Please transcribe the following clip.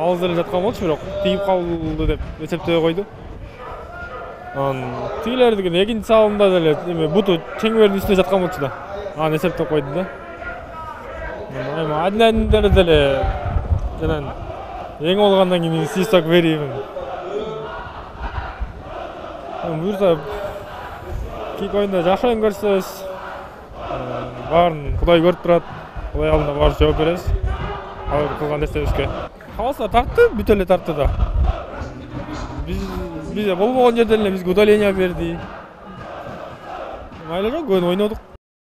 алыс эле жаткан болчу, бирок тийип калды деп эсептөй койду. Тигилердин экинчи салымда деле эме буту чеңбердин үстүнө жаткан болчу да. Аны эсептеп койду да. Эми адилдер деле жанан эң болгондон кийин свисток берейин. Буюрса кийинки оюнда жакшы оюн көрсөтөбүз. Баарын Кудай көрүп турат. Кудай алдында баары жооп беребиз. Ал кылган нерсебизге. Калса тартты, бүт эле тартты да. Бизде болбогон жерден эле бизге удаление берди. Майла жок, ойнодук.